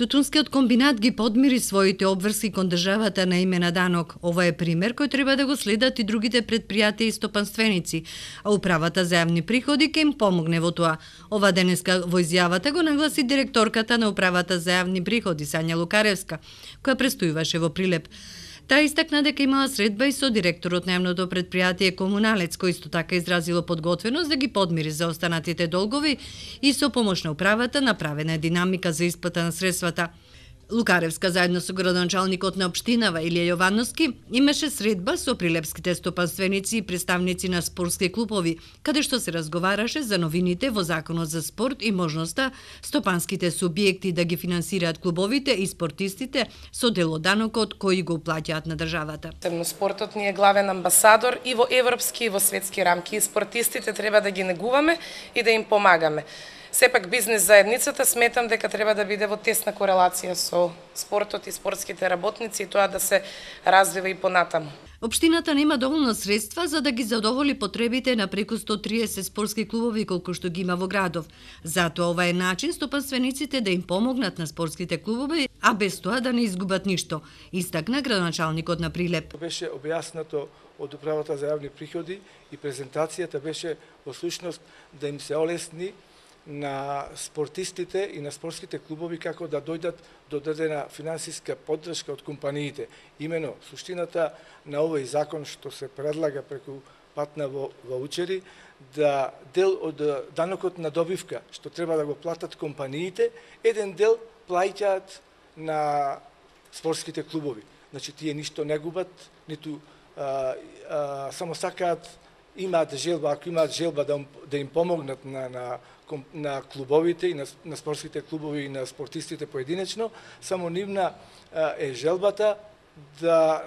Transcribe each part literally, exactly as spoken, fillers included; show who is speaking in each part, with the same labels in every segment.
Speaker 1: Тутунскиот комбинат ги подмири своите обврски кон државата на име на данок. Ова е пример кој треба да го следат и другите предпријатија и стопанственици, а управата за јавни приходи ќе им помогне во тоа. Ова денеска во изјавата го нагласи директорката на управата за јавни приходи Сања Лукаревска, која престојуваше во Прилеп. Таа истакна дека имала средба и со директорот на јавното предпријатие Комуналец, кој исто така изразило подготвеност да ги подмири заостанатите долгови и со помош на управата направена е динамика за исплата на средствата. Лукаревска заедно со градоначалникот на општинава Илија Јовановски имаше средба со прилепските стопанственици и представници на спортски клубови, каде што се разговараше за новините во Законот за спорт и можноста стопанските субјекти да ги финансираат клубовите и спортистите со дел од данокот кој го плаќаат на државата.
Speaker 2: Спортот ни е главен амбасадор и во европски и во светски рамки. И спортистите треба да ги негуваме и да им помагаме. Сепак бизнес заедницата сметам дека треба да биде во тесна корелација со спортот и спортските работници и тоа да се развива и понатаму.
Speaker 1: Општината нема доволно средства за да ги задоволи потребите на преку сто триесет спортски клубови колку што ги има во градов. Затоа ова е начин стопанствениците да им помогнат на спортските клубови, а без тоа да не изгубат ништо, истакна градоначалникот на Прилеп.
Speaker 3: Беше објаснато од управата за јавни приходи и презентацијата беше во слушност да им се олесни на спортистите и на спортските клубови како да дојдат до дадена финансиска поддршка од компаниите. Имено, суштината на овој закон што се предлага преку патна во ваучери, да дел од данокот на добивка, што треба да го платат компаниите, еден дел плаќаат на спортските клубови. Значи, тие ништо не губат, ниту а, а, само сакаат, имаат желба, ако имаат желба да, да им помогнат на, на на клубовите и на, на спортските клубови и на спортистите поединечно, само нивна е желбата да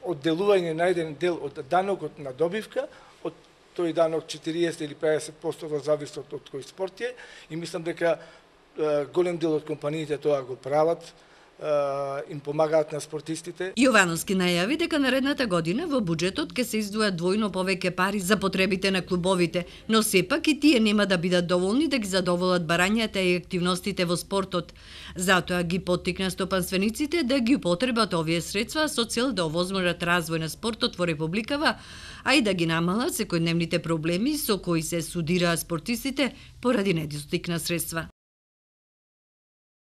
Speaker 3: одделување на еден дел од данокот на добивка, од тој данок четириесет или педесет проценти во зависност од кој спорт е, и мислам дека голем дел од компаниите тоа го прават, им помагаат на спортистите.
Speaker 1: Јовановски најави дека наредната година во буџетот ќе се издвојат двојно повеќе пари за потребите на клубовите, но сепак и тие нема да бидат доволни да ги задоволат барањата и активностите во спортот. Затоа ги поттикна стопанствениците да ги употребат овие средства со цел да овозможат развој на спортот во Републикава, а и да ги намалат секојдневните проблеми со кои се судираат спортистите поради недостиг на средства.